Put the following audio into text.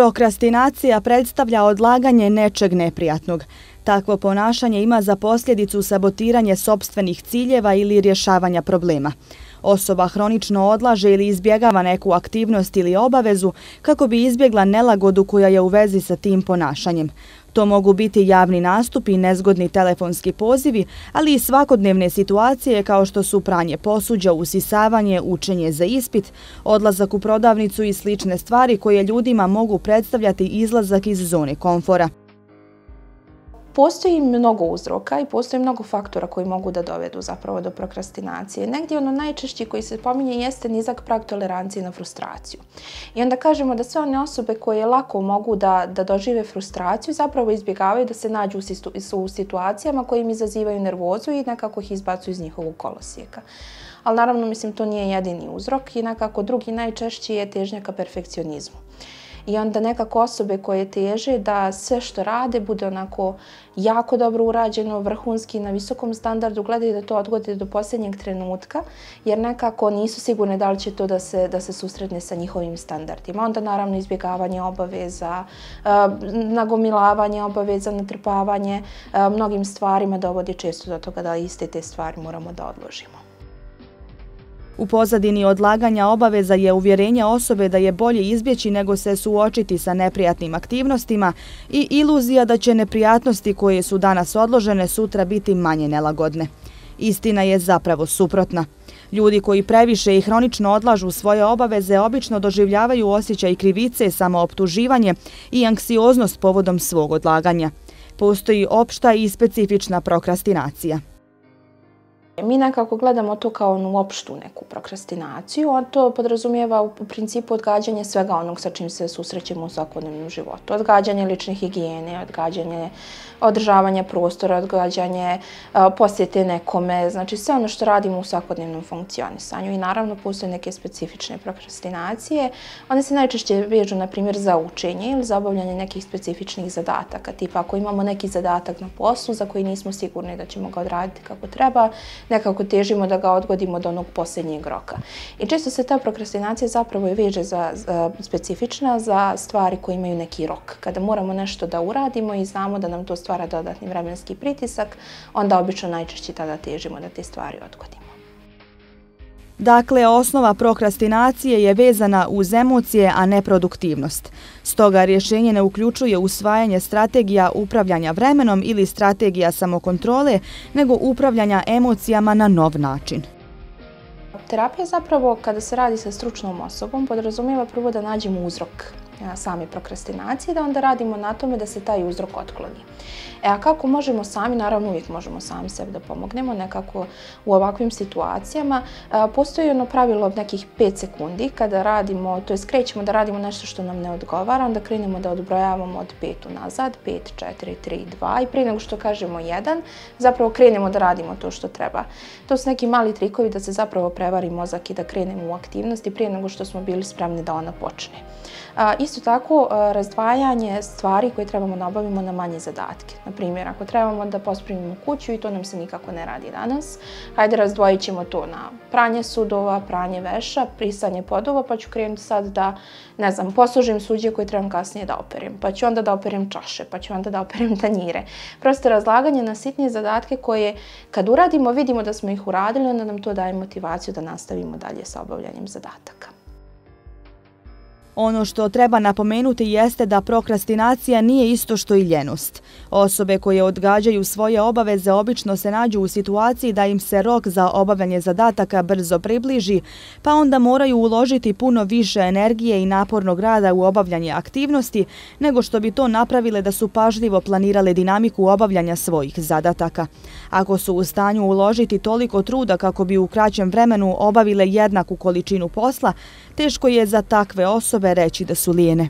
Prokrastinacija predstavlja odlaganje nečeg neprijatnog. Takvo ponašanje ima za posljedicu sabotiranje sopstvenih ciljeva ili rješavanja problema. Osoba hronično odlaže ili izbjegava neku aktivnost ili obavezu kako bi izbjegla nelagodu koja je u vezi sa tim ponašanjem. To mogu biti javni nastupi, nezgodni telefonski pozivi, ali i svakodnevne situacije kao što su pranje posuđa, usisavanje, učenje za ispit, odlazak u prodavnicu i slične stvari koje ljudima mogu predstavljati izlazak iz zone komfora. Postoji mnogo uzroka i postoji mnogo faktora koji mogu da dovedu zapravo do prokrastinacije. Negdje ono najčešći koji se pominje jeste nizak prag tolerancije na frustraciju. I onda kažemo da sve one osobe koje lako mogu da dožive frustraciju zapravo izbjegavaju da se nađu u situacijama koje im izazivaju nervozu i nekako ih izbacuju iz njihovog kolosijeka. Ali naravno, mislim, to nije jedini uzrok i nekako drugi najčešći je težnja ka perfekcionizmu. I onda nekako osobe koje teže da sve što rade bude onako jako dobro urađeno, vrhunski, na visokom standardu, gledaju da to odgode do posljednjeg trenutka, jer nekako nisu sigurne da li će to da se susretne sa njihovim standardima. Onda naravno izbjegavanje obaveza, nagomilavanje obaveza, natrpavanje, mnogim stvarima dovodi često do toga da iste te stvari moramo da odložimo. U pozadini odlaganja obaveza je uvjerenje osobe da je bolje izbjeći nego se suočiti sa neprijatnim aktivnostima i iluzija da će neprijatnosti koje su danas odložene sutra biti manje nelagodne. Istina je zapravo suprotna. Ljudi koji previše i hronično odlažu svoje obaveze obično doživljavaju osjećaj krivice, samooptuživanje i anksioznost povodom svog odlaganja. Postoji opšta i specifična prokrastinacija. Mi nekako gledamo to kao onu opštu neku prokrastinaciju, a to podrazumijeva u principu odgađanje svega onog sa čim se susrećemo u svakodnevnom životu. Odgađanje lične higijene, odgađanje održavanja prostora, odgađanje posjete nekome, znači sve ono što radimo u svakodnevnom funkcionisanju. I naravno postoje neke specifične prokrastinacije. One se najčešće vežu, na primjer, za učenje ili za obavljanje nekih specifičnih zadataka. Tipa ako imamo neki zadatak na poslu za koji nismo sigurni da ćemo ga odraditi kako treba, nekako težimo da ga odgodimo do onog posljednjeg roka. I često se ta prokrastinacija zapravo i veže specifična za stvari koje imaju neki rok. Kada moramo nešto da uradimo i znamo da nam to stvara dodatni vremenski pritisak, onda obično najčešće tada težimo da te stvari odgodimo. Dakle, osnova prokrastinacije je vezana uz emocije, a ne produktivnost. Stoga rješenje ne uključuje usvajanje strategija upravljanja vremenom ili strategija samokontrole, nego upravljanja emocijama na nov način. Terapija zapravo, kada se radi sa stručnom osobom, podrazumijeva prvo da nađemo uzrok same prokrastinacije, da onda radimo na tome da se taj uzrok otkloni. A kako možemo sami? Naravno, uvijek možemo sami sebi da pomognemo nekako u ovakvim situacijama. Postoji ono pravilo od nekih 5 sekundi kada radimo, to jest krećemo da radimo nešto što nam ne odgovara, onda krenemo da odbrojavamo od 5 unazad, 5, 4, 3, 2 i prije nego što kažemo 1, zapravo krenemo da radimo to što treba. To su neki mali trikovi da se zapravo prevari mozak i da krenemo u aktivnosti prije nego što smo bili spremni da ona počne. Isto tako, razdvajanje stvari koje trebamo da obavimo na manje zadatke. Na primjer, ako trebamo da pospremimo kuću i to nam se nikako ne radi danas, hajde razdvojit ćemo to na pranje sudova, pranje veša, brisanje podova, pa ću krenuti sad da, ne znam, poslužim suđe koje trebam kasnije da operem, pa ću onda da operem čaše, pa ću onda da operem tanjire. Prosto razlaganje na sitnije zadatke koje kad uradimo, vidimo da smo ih uradili, onda nam to daje motivaciju da nastavimo dalje sa obavljanjem zadataka. Ono što treba napomenuti jeste da prokrastinacija nije isto što i ljenost. Osobe koje odgađaju svoje obaveze obično se nađu u situaciji da im se rok za obavljanje zadataka brzo približi, pa onda moraju uložiti puno više energije i napornog rada u obavljanje aktivnosti nego što bi to napravile da su pažljivo planirale dinamiku obavljanja svojih zadataka. Ako su u stanju uložiti toliko truda kako bi u kraćem vremenu obavile jednaku količinu posla, teško je za takve osobe reći da su lijene.